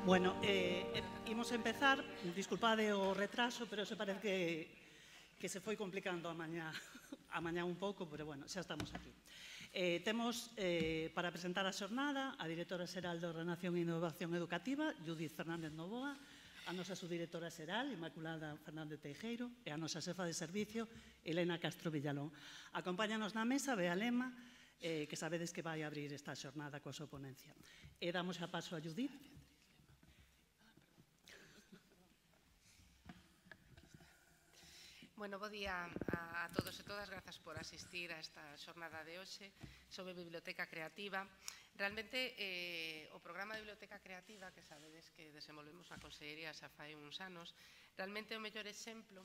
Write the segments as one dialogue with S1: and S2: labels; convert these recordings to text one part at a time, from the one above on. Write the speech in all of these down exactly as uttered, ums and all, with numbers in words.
S1: Bueno, eh, imos empezar, disculpade o retraso, pero se parece que, que se foi complicando a mañá, a mañá un pouco, pero bueno, xa estamos aquí. Eh, temos eh, para presentar a xornada a directora xeral de Ordenación e Innovación Educativa, Judith Fernández Novoa, a nosa subdirectora xeral, Inmaculada Fernández Teijeiro, e a nosa xefa de servicio, Elena Castro Villalón. Acompáñanos na mesa Bea Lema, eh, que sabedes que vai abrir esta xornada coa súa ponencia. E damos a paso a Judith.
S2: Bueno, bo día a todos e todas, grazas por asistir a esta xornada de hoxe sobre Biblioteca Creativa. Realmente, eh, o programa de Biblioteca Creativa, que sabedes que desenvolvemos na Consellería xa fai uns anos, realmente é o mellor exemplo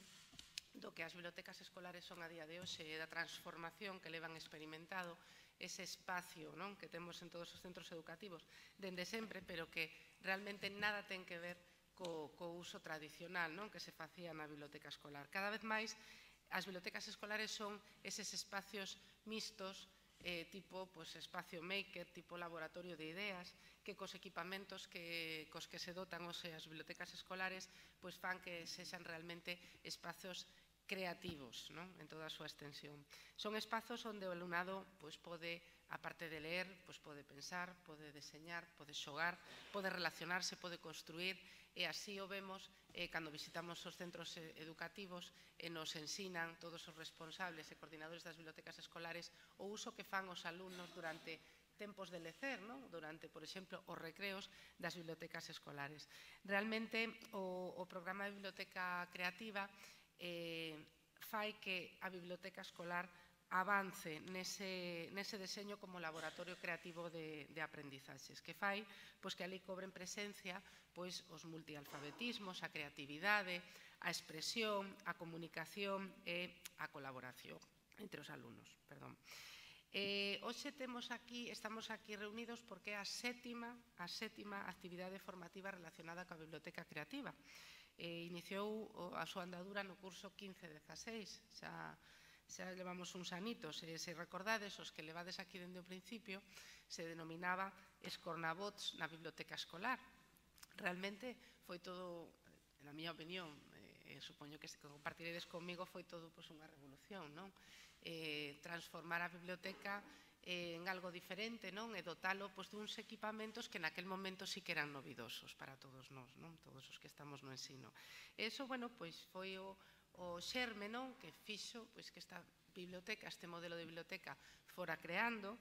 S2: do que as bibliotecas escolares son a día de hoxe e da transformación que levan experimentado ese espacio, non, que temos en todos os centros educativos dende sempre, pero que realmente nada ten que ver co, co uso tradicional, non, que se facía na biblioteca escolar. Cada vez máis as bibliotecas escolares son eses espacios mixtos, eh, tipo pues, espacio maker, tipo laboratorio de ideas, que cos equipamentos que, cos que se dotan os, as bibliotecas escolares pues, fan que sexan realmente espacios creativos, non? En toda a súa extensión. Son espazos onde o alumnado pues, pode, aparte de ler, pues, pode pensar, pode deseñar, pode xogar, pode relacionarse, pode construir, e así o vemos eh, cando visitamos os centros educativos e nos ensinan todos os responsables e coordinadores das bibliotecas escolares o uso que fan os alumnos durante tempos de lecer, non? Durante, por exemplo, os recreos das bibliotecas escolares. Realmente, o, o programa de Biblioteca Creativa eh, fai que a biblioteca escolar avance nese, nese deseño como laboratorio creativo de, de aprendizaxes, que fai pois, que ali cobren presencia pois, os multialfabetismos, a creatividade, a expresión, a comunicación e a colaboración entre os alumnos. Perdón. Eh, hoxe temos aquí, estamos aquí reunidos porque é a sétima, a sétima actividade formativa relacionada coa biblioteca creativa. Eh, iniciou a súa andadura no curso quince dezaseis, xa xa levamos uns anitos, e se recordades, os que levades aquí dende o principio, se denominaba Escornabots na biblioteca escolar. Realmente foi todo, na miña opinión, eh, supoño que se compartiredes comigo, foi todo pues, unha revolución, non? Eh, transformar a biblioteca eh, en algo diferente, non? E dotalo pues, duns equipamentos que naquel momento sí que eran novidosos para todos nós, non? Todos os que estamos no ensino. E iso, bueno, pois foi o o xerme, non, que fixo pois, que esta biblioteca, este modelo de biblioteca fora creando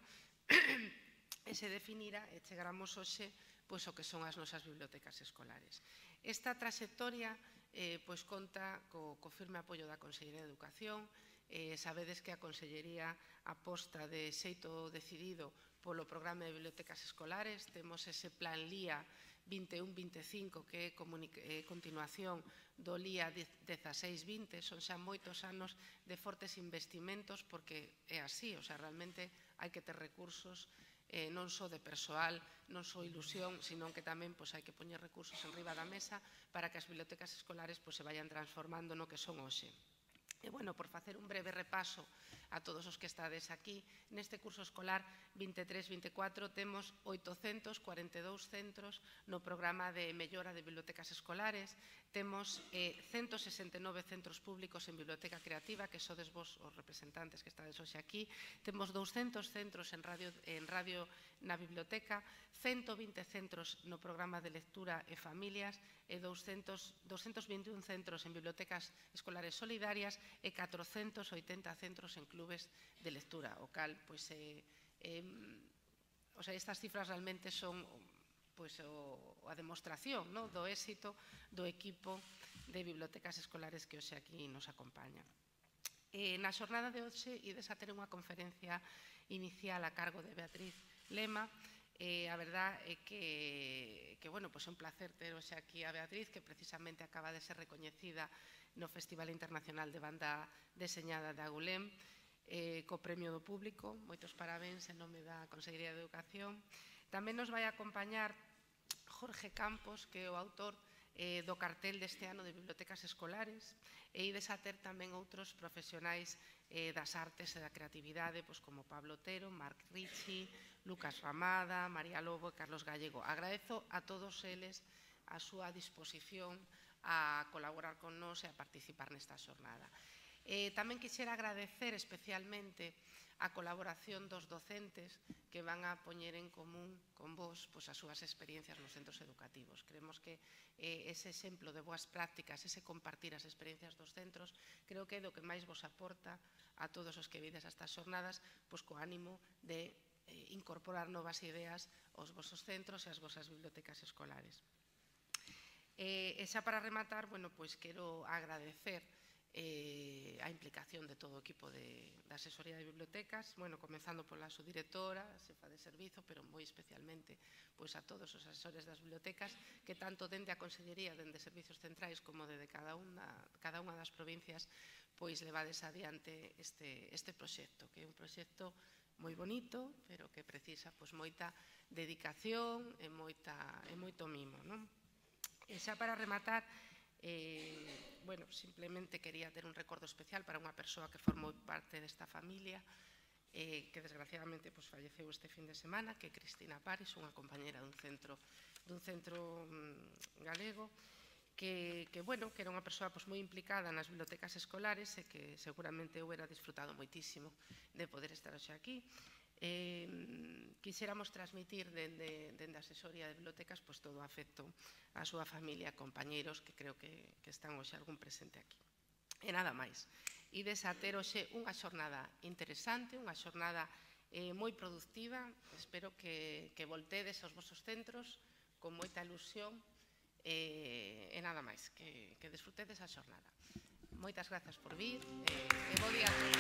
S2: e se definira e chegáramos hoxe pois, o que son as nosas bibliotecas escolares. Esta trayectoria eh, pois, conta co, co firme apoio da Consellería de Educación. Eh, sabedes que a Consellería aposta de xeito decidido polo programa de bibliotecas escolares. Temos ese plan L I A vinte e un vinte e cinco que é continuación do L I A dezaseis vinte, son xa moitos anos de fortes investimentos porque é así, o sea, realmente hai que ter recursos eh, non só de persoal, non só ilusión, sino que tamén pues, hai que poñer recursos en riba da mesa para que as bibliotecas escolares pues, se vayan transformando no que son hoxe. E, bueno, por facer un breve repaso a todos os que estades aquí, neste curso escolar vinte e tres vinte e catro temos oitocentos cuarenta e dous centros no programa de mellora de bibliotecas escolares, temos eh, ciento sesenta e nove centros públicos en biblioteca creativa, que sodes vos os representantes que estades hoxe aquí, temos douscentos centros en radio, en radio na biblioteca, ciento vinte centros no programa de lectura e familias e doscientos vinte e un centros en bibliotecas escolares solidarias e catrocentos oitenta centros en clubes de lectura, o cal, pois, eh, eh, o sea, estas cifras realmente son pois, o, a demostración no, do éxito do equipo de bibliotecas escolares que hoxe aquí nos acompaña. Eh, na xornada de hoxe ides a ter unha conferencia inicial a cargo de Beatriz Lema. Eh, a verdad é que, que bueno, pues é un placer ter hoxe aquí a Beatriz, que precisamente acaba de ser recoñecida no Festival Internacional de Banda Deseñada de Agulem, eh, co Premio do Público. Moitos parabéns en nome da Consellería de Educación. Tamén nos vai acompañar Jorge Campos, que é o autor eh, do cartel deste ano de bibliotecas escolares, e ides a ter tamén outros profesionais eh, das artes e da creatividade, pois como Pablo Otero, Marc Ricci, Lucas Ramada, María Lobo e Carlos Gallego. Agradezo a todos eles a súa disposición a colaborar con nós e a participar nesta xornada. Eh, tamén quixera agradecer especialmente a colaboración dos docentes que van a poñer en común con vos pois, as súas experiencias nos centros educativos. Creemos que eh, ese exemplo de boas prácticas, ese compartir as experiencias dos centros, creo que é do que máis vos aporta a todos os que vides a estas xornadas, pois co ánimo de eh, incorporar novas ideas aos vosos centros e ás vosas bibliotecas escolares. E, e xa para rematar, bueno, pois quero agradecer Eh, a implicación de todo o equipo de, de asesoría de bibliotecas, bueno, comenzando pola subdirectora, a xefa de servizo, pero moi especialmente pois, a todos os asesores das bibliotecas que tanto dende a Consellería, dende Servizos Centrais, como dende cada unha, cada unha das provincias, pois levades adiante este, este proxecto, que é un proxecto moi bonito, pero que precisa pois, moita dedicación e, moita, e moito mimo, non? E xa para rematar, Eh, bueno, simplemente quería ter un recordo especial para unha persoa que formou parte desta familia eh, que desgraciadamente pues, falleceu este fin de semana, que é Cristina Paris, unha compañera dun centro, dun centro mm, galego que, que, bueno, que era unha persoa pues, moi implicada nas bibliotecas escolares e que seguramente eu era disfrutado moitísimo de poder estar hoxe aquí. Eh, quixéramos transmitir dende, dende a asesoría de bibliotecas pues, todo o afecto á súa familia, compañeiros que creo que, que están hoxe algún presente aquí. E nada máis. Ides a ter hoxe unha xornada interesante, unha xornada eh, moi productiva. Espero que, que voltedes aos vosos centros con moita ilusión eh, e nada máis, que, que desfrutedes a xornada. Moitas grazas por vir eh, e bo día a todos.